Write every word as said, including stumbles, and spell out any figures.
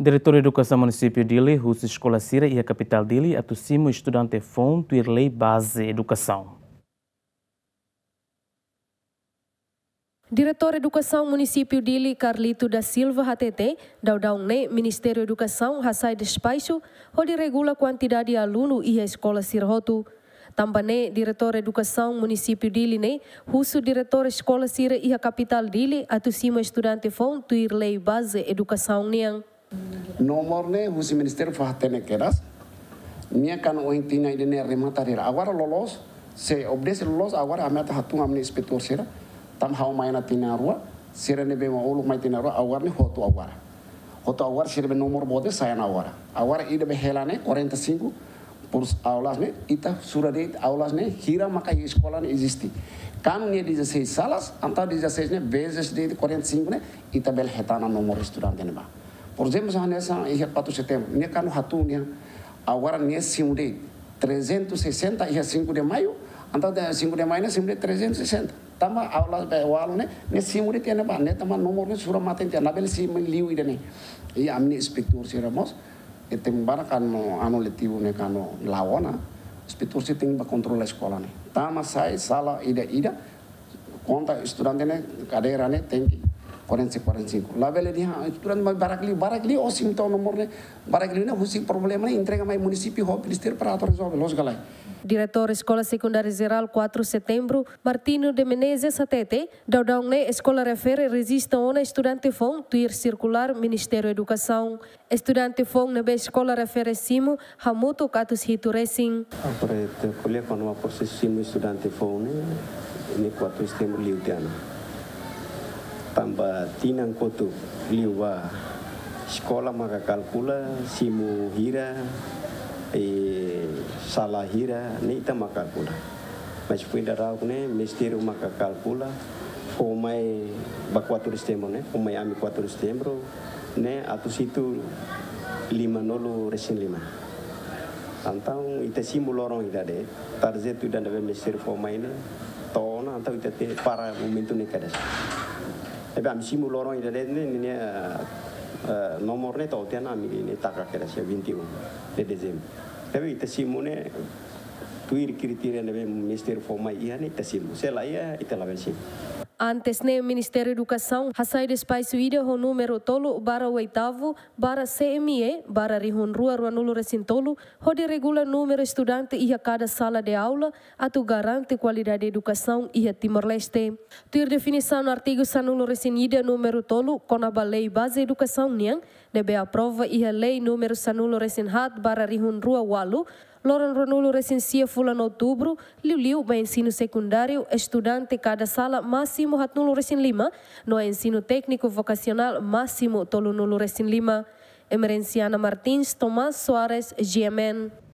Diretór Edukasaun Munisípiu Dili husu eskola sira iha kapitál Dili atu simu estudante foun tuir lei baze edukasaun. Diretór Edukasaun Munisípiu Dili, Carlito da Silva, hatete, daudaun ne'e Ministériu Edukasaun hasai despaxu hodi regula kuantidade alunu iha eskola sira hotu. Tanba ne'e, Diretór Edukasaun Munisípiu Dili ne'e husu diretór eskola sira iha kapitál Dili atu simu estudante foun tuir lei baze edukasaun nian. Nomor ne'e husi ministériu fó hatene kedas. Nia kan ohin tinan ida-ne'e remata hira. Agora loloos, se obedese loloos, agora ami atu hatun ami-nia inspetór sira. Tanba ha'u mai ona tinan rua, sira ne'ebé mak uluk mai tinan rua, agora ne'e hotu agora. Hotu agora sira-nia nomor boot sai ona agora. Agora ida be hela ne'e quarenta e cinco por aulas ne'e, ita sura de'it aulas ne'e hira maka iha eskola ne'e eziste. Kan nia dezasseis salas, entaun dezasseis ne'e vezes de'it quarenta e cinco ne'e, ita bele hetan ona nomor estudante ne'ebá. Por ezemplu, hanesan iha quatro de setembro, nia kan hatun nia, agora nia simu de'it trezentos e sessenta iha cinco de maio, entaun iha cinco de maio ne'e simu de'it trezentos e sessenta. Tanba aulas be walu ne'e, nia simu de'it tiha ne'ebá, ne'e tanba nomor ne'e sura mate tiha, labele simu liu ida-ne'e. I ami-nia inspetór sira mós, ita ema barak kan no anu letivu ne'e kan no la'o ona, inspetór sira tenke bá kontrola eskola ne'e. Tanba sai sala ida-ida, konta estudante ne'e, kadeira ne'e tenke quarenta e cinco, quarenta e cinco. Labele dehan estudante mai barak liu, barak liu, ó simu to'o nomor ne'e, barak liu ne'e husi problema ne'e entrega mai munisípiu ho ministériu para atu rezolve, loos ka lae. Diretór Eskola Sekundária Jerál quatro de Setembro, Martinho de Menezes, hatete, daudaun ne'e eskola refere rejista ona estudante foun tuir sirkulár Ministériu Edukasaun. Estudante foun ne'ebé eskola refere simu hamutuk atus hitu resin. Agora ita ko'alia kona-ba prosesu simu estudante foun ne'e, ne'e quatro de setembro liu tiha ona. Tanba tinan kotuk liubá eskola maka kalkula simu hira, i sala hira, ne'e ita maka kalkula. Mas foin daudauk ne'e, ministériu maka kalkula, fó mai ba quatro de setembro ne'e, fó mai ami quatro de setembro ne'e, atus hitu limanulu resin lima. Entaun, ita simu loron ida de'it, tarjetu ida ne'ebé ministériu fó mai ne'e, to'o ona, entaun ita tenke para momentu ne'e kedas. Ne'ebé ami simu loron ida de'it ne'e, ne'e, eh, eh, nomor ne'e to'o tiha ona ami ne'e taka kedas iha vinte e um de dezembro. Ne'ebé ita simu ne'e, tuir kritéria ne'ebé ministériu fó mai iha ne'e ita simu. Se la iha, ita labele simu. Antes ne'e Ministériu Edukasaun hasai despaxu ida ho númeru tolu barra oitavu barra C M E barra rihun rua ruanulu resin tolu, hodi regula númeru estudante iha kada sala de aula, atu garante kualidade edukasaun iha Timor-Leste. Tuir definisaun artigu sanulu resin ida númeru tolu kona-ba lei baze edukasaun nian, ne'ebé aprova iha lei númeru sanulu resin haat barra rihun rua ualu, loron ruanulu resin sia fulan outubru, liuliu ba ensinu sekundáriu, estudante kada sala másimu haatnulu resin lima, no ensinu tékniku vokasionál másimu tolunulu resin lima. Emerenciana Martins, Tomás Soares, G M N.